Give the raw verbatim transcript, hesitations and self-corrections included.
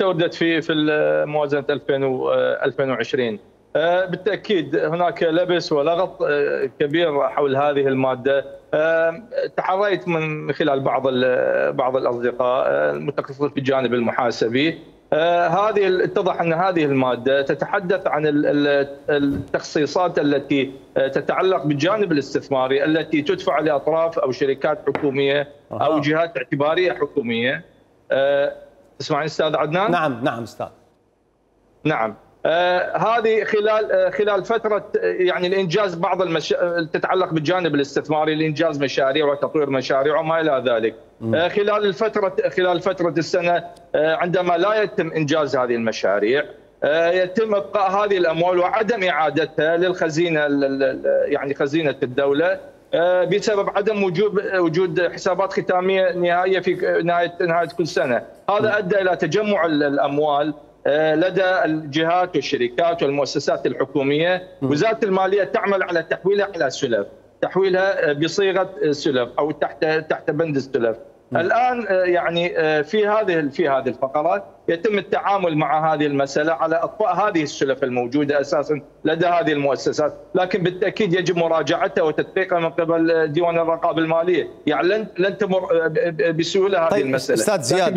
استوردت في في موازنه ألفين وعشرين. بالتاكيد هناك لبس ولغط كبير حول هذه الماده. تحريت من خلال بعض بعض الاصدقاء المتخصصين في الجانب المحاسبي. هذه اتضح ان هذه الماده تتحدث عن التخصيصات التي تتعلق بالجانب الاستثماري التي تدفع لاطراف او شركات حكوميه او جهات اعتباريه حكوميه. تسمعني استاذ عدنان؟ نعم نعم استاذ. نعم. آه هذه خلال آه خلال فتره يعني الانجاز بعض المشا... تتعلق بالجانب الاستثماري لانجاز مشاريع وتطوير مشاريع وما الى ذلك. آه خلال الفتره خلال فتره السنه آه عندما لا يتم انجاز هذه المشاريع آه يتم ابقاء هذه الاموال وعدم اعادتها للخزينه يعني خزينه الدوله آه بسبب عدم وجود وجود حسابات ختاميه نهائيه في نهايه نهايه كل سنه. هذا ادى الى تجمع الاموال لدى الجهات والشركات والمؤسسات الحكوميه. وزاره الماليه تعمل على تحويلها على سلف، تحويلها بصيغه سلف او تحت تحت بند السلف. الان يعني في هذه في هذه الفقرات يتم التعامل مع هذه المساله على اطفاء هذه السلف الموجوده اساسا لدى هذه المؤسسات، لكن بالتاكيد يجب مراجعتها وتدقيقها من قبل ديوان الرقابه الماليه، يعني لن لن تمر بسهوله هذه طيب المساله. استاذ زياد